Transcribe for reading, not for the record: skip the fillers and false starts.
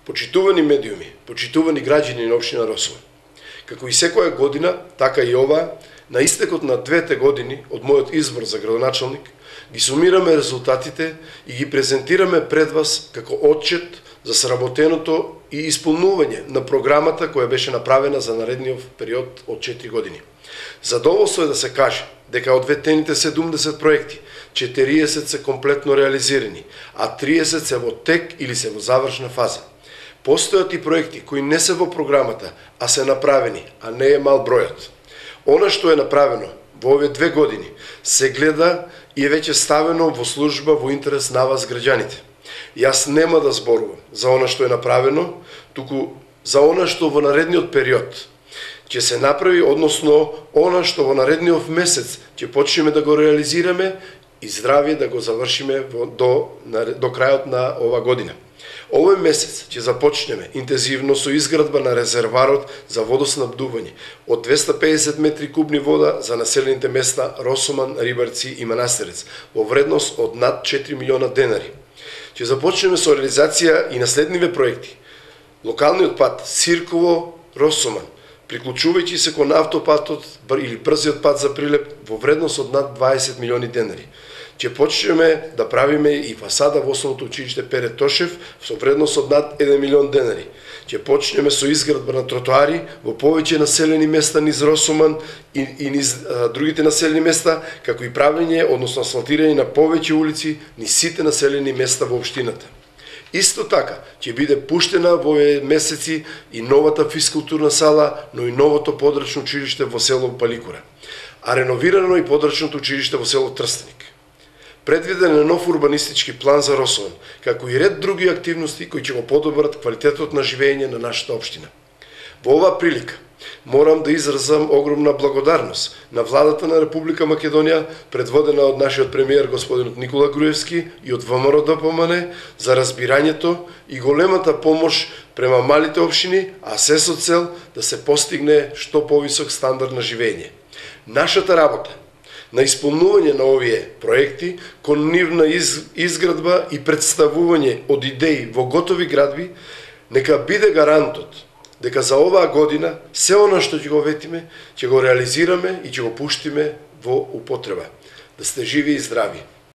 Почитувани медиуми, почитувани граѓани на општина Росово. Како и секоја година, така и ова, на истекот на 2 години од мојот избор за градоначалник, ги сумираме резултатите и ги презентираме пред вас како отчет за сработеното и исполнување на програмата која беше направена за наредниот период од 4 години. Задоволство е да се каже дека од ветените 70 проекти, 40 се комплетно реализирани, а 30 се во тек или се во завршна фаза. Постојат и проекти кои не се во програмата, а се направени, а не е мал бројот. Она што е направено во овие 2 години се гледа и е веќе ставено во служба во интерес на вас граѓаните. Јас нема да зборувам за она што е направено, туку за она што во наредниот период ќе се направи, односно она што во наредниот месец ќе почнеме да го реализираме и здравје да го завршиме до крајот на ова година. Овој месец ќе започнеме интензивно со изградба на резерварот за водоснабдување од 250 метри кубни вода за населените места Росоман, Рибарци и Манастирец во вредност од над 4 милиона денари. Ќе започнеме со реализација и на следниве проекти. Локалниот пат Сирково-Росоман, приклучувајќи се кон автопатот или брзиот пат за Прилеп во вредност од над 20 милиони денари. Ќе почнеме да правиме и фасада во Основното училиште Пере Тошев со вредност од над 1 милион денари. Ќе почнеме со изградба на тротоари во повеќе населени места низ Росоман и низ другите населени места, како и правење, односно асфалтирање на повеќе улици низ сите населени места во општината. Исто така, ќе биде пуштена во овие месеци и новата физкултурна сала, но и новото подрачно училиште во село Паликура, а реновирано и подрачното училиште во село Трстеник. Предвиден е нов урбанистички план за Росован, како и ред други активности кои ќе го подобрат квалитетот на живење на нашата општина. Во оваа прилика морам да изразам огромна благодарност на владата на Република Македонија, предводена од нашиот премиер господинот Никола Груевски и од ВМРО ДПМН за разбирањето и големата помош према малите општини, а се со цел да се постигне што повисок стандард на живење. Нашата работа на исполнување на овие проекти, кон нивна изградба и представување од идеи во готови градби, нека биде гарантот дека за оваа година се она што ќе го ветиме, ќе го реализираме и ќе го пуштиме во употреба. Да сте живи и здрави!